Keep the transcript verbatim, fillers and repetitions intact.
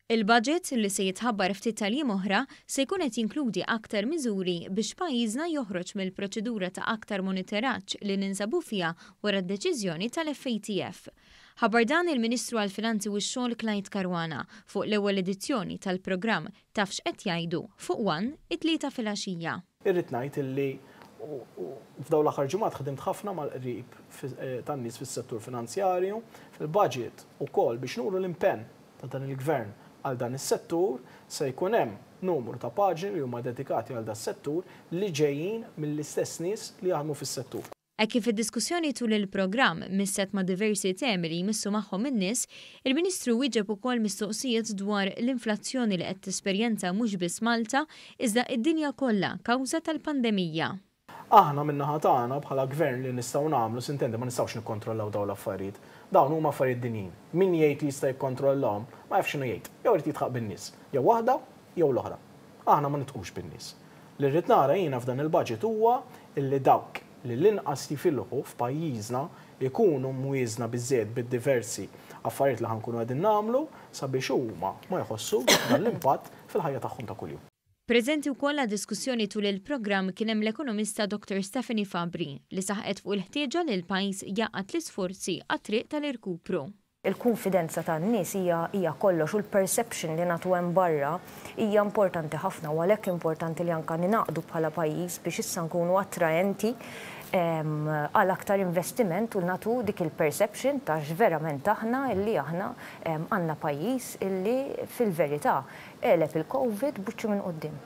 Il-budget li se jitħabbar ftit tal-jiem oħra se jkun qed jinkludi aktar miżuri biex pajjiżna joħroġ mill-proċedura ta' aktar monitoraġġ li ninsabu fiha wara d-deċiżjoni tal-F A T F. Ħabbar dan il-Ministru għall-Finanzi u x-Xogħol Clyde Caruana fuq l-ewwel edizzjoni tal-programm Taf x'qed jgħidu fuq One it-Tlieta filgħaxija. Irrid ngħid illi f'dawn l-aħħar ġimgħat ħdimt ħafna mal-qrib eh, tan-nies fis-settur finanzjarju, fil-budget ukoll biex nuru l-impenn ta' dan il-gvern għal dan is-settur, se jkun hemm numru ta' paġni li huma dedikati għal dan settur li ġejjin mill-istess nies li jaħdmu fis-settur. Hekk kif id-diskussjoni tul il-programm misset ma' diversi temi li jmissu magħhom in-nies, il-Ministru wieġeb ukoll mistoqsijiet dwar l-inflazzjoni li qed tesperjenza mhux biss Malta iżda id-dinja kollha kawża tal-pandemija. Aħna min-naħa tagħna bħala gvern li nistgħu nagħmlu, s'intendi, ma nistgħux nikkontrollaw dawn l-affarijiet. Dawn huma affarijiet dinjin. Min jgħid li jista' jikkontrollahom ma jafx x'inhu jgħid. Jew irid jidħaq bin-nies. Jew waħda jew l-oħra. Aħna ma nidħqux bin-nies. Li rrid nara jiena f'dan il-budget huwa illi dawk li l-inqas jifilħu f'pajjiżna ikunu mwieżna biżżejjed bid-diversi affarijiet li ħa nkunu qegħdin nagħmlu sabiex huma ma jħossux dan l-impatt fil-ħajja tagħhom ta' kuljum. Preżenti wkoll diskussjoni tul il-programm kien hemm l-ekonomista Doctor Stephanie Fabri li saħqet fuq il-ħtieġa li l-pajjiż jgħaqqad l-isforzi għat-triq tal-irkupru. Il-konfidenza tan-nies hija hija kollox u l-perception li nagħtu hemm barra hija importanti ħafna u għalhekk importanti li anka ningħaqdu bħala pajjiż biex issa nkunu attraenti għal aktar investiment u nagħtu dik il-perception ta' verament aħna illi aħna għandna pajjiż illi fil-verità għeleb il-Covid b'wiċċu minn quddiem.